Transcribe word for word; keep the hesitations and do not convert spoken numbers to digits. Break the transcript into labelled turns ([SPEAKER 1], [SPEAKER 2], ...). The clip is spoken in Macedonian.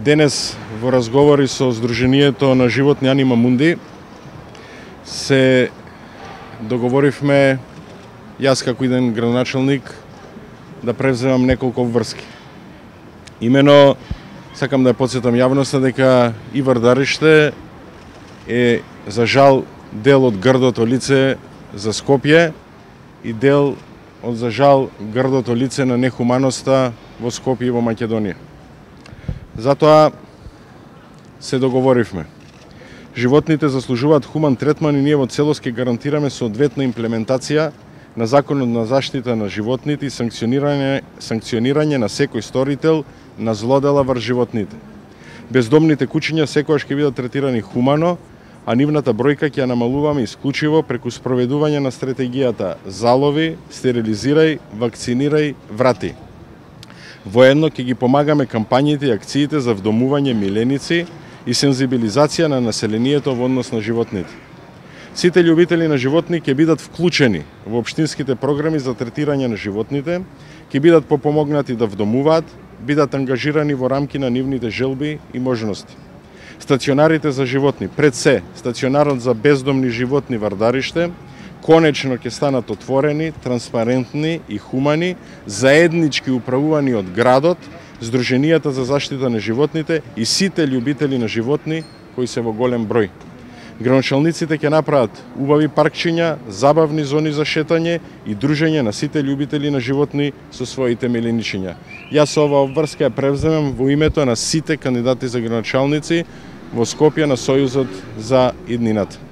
[SPEAKER 1] Денес во разговори со Сдруженијето на животни Анима Мунди се договоривме јас како еден градоначелник да превземам неколку врски. Имено сакам да ја потсетам јавноста дека и Вардариште е за жал дел од грдото лице за Скопје и дел од за жал грдото лице на нехуманоста во Скопје и во Македонија. Затоа се договоривме. Животните заслужуваат хуман третман и ние во целост ќе гарантираме соодветна имплементација на Законот на заштита на животните и санкционирање, санкционирање на секој сторител на злодела врз животните. Бездомните кучиња секогаш ќе бидат третирани хумано, а нивната бројка ќе ја намалуваме исклучиво преку спроведување на стратегијата залови, стерилизирај, вакцинирај, врати. Воедно ќе ги помагаме кампањите и акциите за вдомување миленици и сензибилизација на населението во однос на животните. Сите љубители на животни ќе бидат вклучени во општинските програми за третирање на животните, ќе бидат попомогнати да вдомуваат, бидат ангажирани во рамки на нивните желби и можности. Стационарите за животни, пред се стационарот за бездомни животни Вардариште, конечно ќе станат отворени, транспарентни и хумани, заеднички управувани од градот, Сдруженијата за заштита на животните и сите љубители на животни кои се во голем број. Градоначалниците ќе направат убави паркчиња, забавни зони за шетање и дружење на сите љубители на животни со своите миленичиња. Јас оваа обврска ја превземам во името на сите кандидати за градоначалници во Скопје на Сојузот за иднината.